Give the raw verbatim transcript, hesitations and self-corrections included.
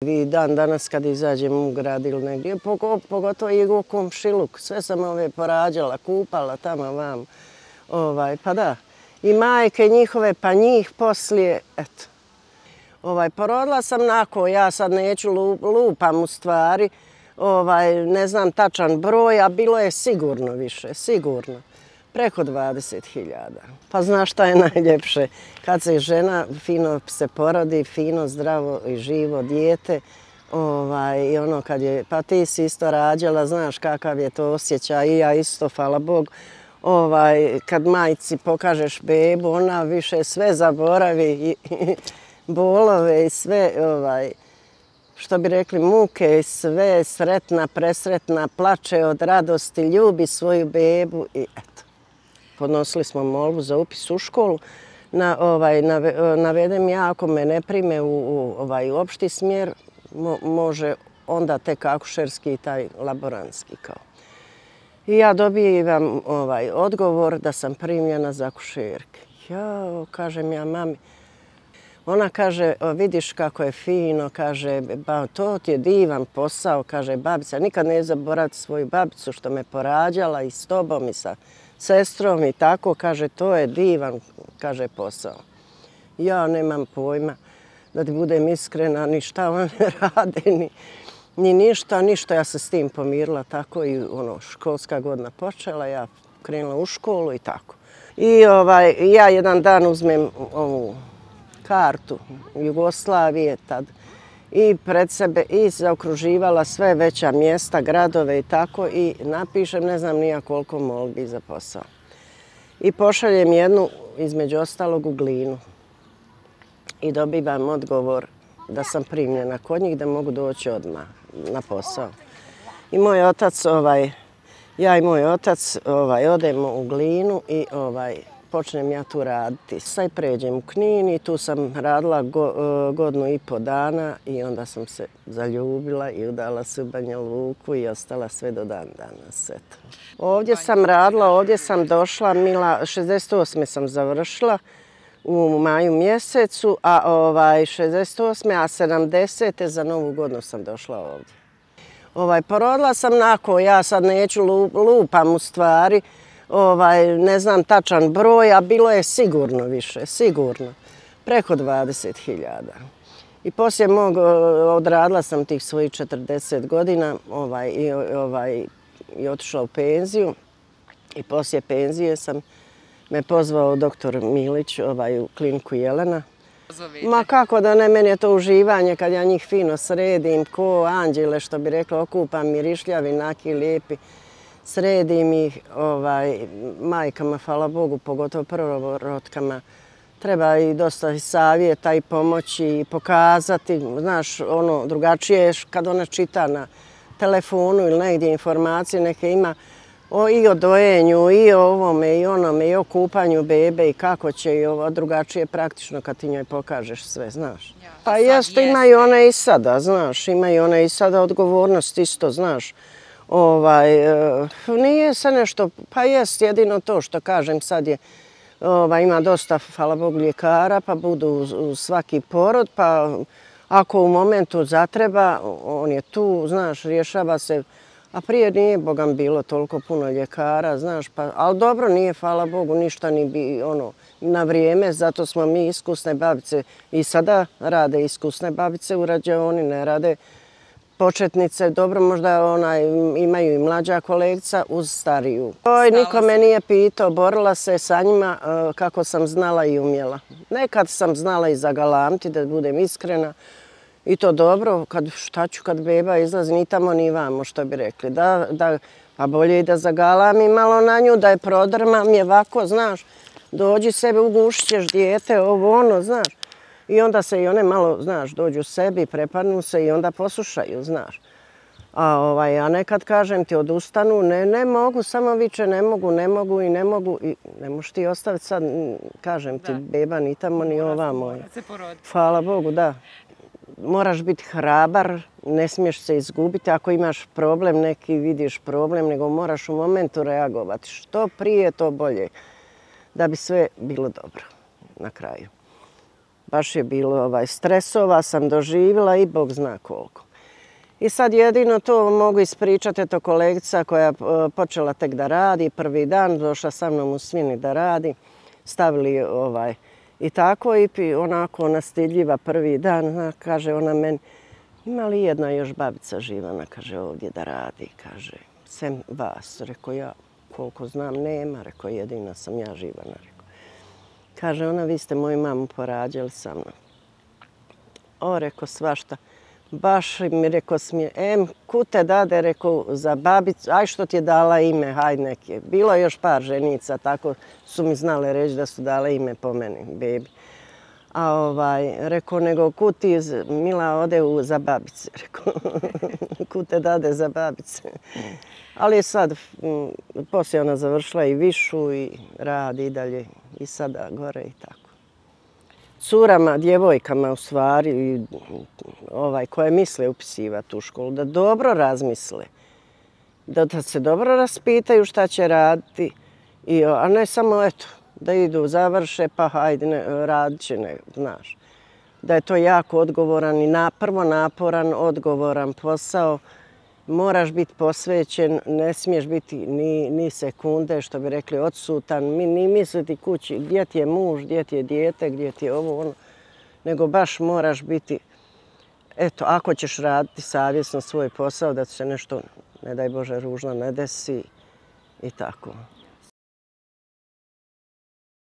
I dan danas kad izađem u grad ili negdje, pogotovo i u komšiluk, sve sam ove porađala, kupala tamo vam, ovaj, pa da. I majke njihove, pa njih poslije, eto. Ovaj, porodila sam nako, ja sad neću lupam u stvari, ovaj, ne znam tačan broj, a bilo je sigurno više, sigurno. Preko dvadeset hiljada. Pa znaš šta je najljepše? Kad se žena fino se porodi, fino, zdravo i živo dijete, ovaj, i ono kad je, pa ti si isto rađala, znaš kakav je to osjećaj, i ja isto, hvala Bog, ovaj, kad majci pokažeš bebu, ona više sve zaboravi, i, i bolove i sve, ovaj, što bi rekli, muke i sve, sretna, presretna, plače od radosti, ljubi svoju bebu i eto. Podnosili smo molbu za upis u školu. Na, ovaj, nave, navedem ja, ako me ne prime u, u ovaj, opšti smjer, mo, može onda tek akušerski i taj laborantski kao. I ja dobivam ovaj, odgovor da sam primljena za akušerke. Ja, kažem ja mami. Ona kaže, vidiš kako je fino, kaže, ba, to ti je divan posao, kaže babica. Nikad ne zaboraviti svoju babicu što me porađala i s tobom i sa sestrom i tako, kaže, to je divan, kaže, posao. Ja nemam pojma, da ti budem iskrena, ni šta one rade, ni, ni ništa, ništa. Ja se s tim pomirila tako i ono, školska godina počela, ja krenula u školu i tako. I ovaj, ja jedan dan uzmem ovu kartu Jugoslavije tad i pred sebe i zaokruživala sve veća mjesta, gradove i tako i napišem ne znam nija koliko molbi za posao. I pošaljem jednu, između ostalog, u Glinu. I dobivam odgovor da sam primljena kod njih, da mogu doći odmah na posao. I moj otac, ovaj, ja i moj otac ovaj, odemo u Glinu i ovaj, počnem ja tu raditi. Sad pređem u Knin i tu sam radila go, godinu i po dana i onda sam se zaljubila i udala se u Banja Luku i ostala sve do dan danas. Eto. Ovdje sam radila, ovdje sam došla, Mila, šezdeset osme sam završila u maju mjesecu, a ovaj, šezdeset osme a sedamdesete za Novu godinu sam došla ovdje. Ovaj, porodila sam nako, ja sad neću lupam u stvari, ovaj, ne znam tačan broj, a bilo je sigurno više, sigurno. Preko dvadeset hiljada. I poslije mog, odradila sam tih svojih četrdeset godina ovaj, i, ovaj, i otišla u penziju. I poslije penzije sam me pozvao doktor Milić ovaj, u kliniku Jelena. Zovite. Ma kako da ne, meni je to uživanje kad ja njih fino sredim, ko anđele, što bi rekla, okupam, mirišljavi, naki, lijepi. Sredim ih ovaj, majkama, hvala Bogu, pogotovo prvorotkama. Treba i dosta savjeta i pomoći i pokazati. Znaš, ono drugačije je kad ona čita na telefonu ili negdje informacije, neke ima o, i o dojenju, i o ovome, i onome, i o kupanju bebe i kako će i ovo drugačije praktično kad ti njoj pokažeš sve, znaš. Ja, pa jeste, imaju one i sada, znaš, imaju one i sada odgovornost isto, znaš. Ovaj, nije se nešto, pa jest jedino to što kažem sad je, ovaj, ima dosta, hvala Bogu, ljekara, pa budu uz, uz svaki porod, pa ako u momentu zatreba, on je tu, znaš, rješava se, a prije nije, Bogam, bilo toliko puno ljekara, znaš, pa, ali dobro nije, hvala Bogu, ništa ni bi, ono, na vrijeme, zato smo mi iskusne babice i sada rade iskusne babice u rađaoni, ne rade početnice, dobro, možda onaj, imaju i mlađa kolekcija uz stariju. Oj, niko me nije pitao, borila se sa njima uh, kako sam znala i umjela. Nekad sam znala i zagalamti, da budem iskrena. I to dobro, kad, šta ću kad beba izlazi, ni tamo ni vamo, što bi rekli. Da, da, pa bolje i da zagalamim malo na nju, da je prodrmam je ovako, znaš. Dođi sebe, ugušćeš dijete, ovo ono, znaš. I onda se i one malo, znaš, dođu sebi, prepadnu se i onda poslušaju, znaš. A, ovaj, a nekad kažem ti, odustanu, ne, ne mogu, samo viče, ne mogu, ne mogu i ne mogu. I ne možeš ti ostaviti sad, kažem ti, beba ni tamo ni ovamo. Hvala Bogu, da. Moraš biti hrabar, ne smiješ se izgubiti. Ako imaš problem, neki vidiš problem, nego moraš u momentu reagovati. Što prije, to bolje. Da bi sve bilo dobro na kraju. baš je bilo ovaj, stresova sam doživjela i Bog zna koliko. I sad jedino to mogu ispričati, eto kolegica koja je počela tek da radi, prvi dan došla sa mnom u Svini da radi, stavili ovaj, i tako i onako ona stidljiva prvi dan, kaže ona meni, ima li jedna još babica živana, kaže ovdje da radi, kaže, sem vas, rekao ja, koliko znam nema, rekao jedina sam ja živana, rekao. Kaže ona, vi ste moju mamu porađali sa mnom. O, rekao svašta. Baš mi rekao smije, em, kud te dade, rekao, za babicu, aj što ti je dala ime, haj neke. Bilo je još par ženica, tako su mi znale reći da su dale ime po meni, bebi. A ovaj, rekao, nego kud ti, Mila, ode u, za babice, rekao, kud te dade za babice. Ali sad, m, poslije ona završila i višu i radi i dalje i sada gore i tako. Curama, djevojkama u stvari, ovaj, koje misle upisivati u školu, da dobro razmisle, da, da se dobro raspitaju šta će raditi, i, a ne samo eto, da idu, završe, pa hajde, ne, radit će, ne, znaš. Da je to jako odgovoran i na, prvo naporan, odgovoran posao, moraš biti posvećen, ne smiješ biti ni, ni sekunde, što bi rekli, odsutan, ni misliti kući gdje ti je muž, gdje ti je dijete, gdje ti je ovo, ono, nego baš moraš biti, eto, ako ćeš raditi savjesno svoj posao, da se nešto, ne daj Bože, ružno ne desi i tako.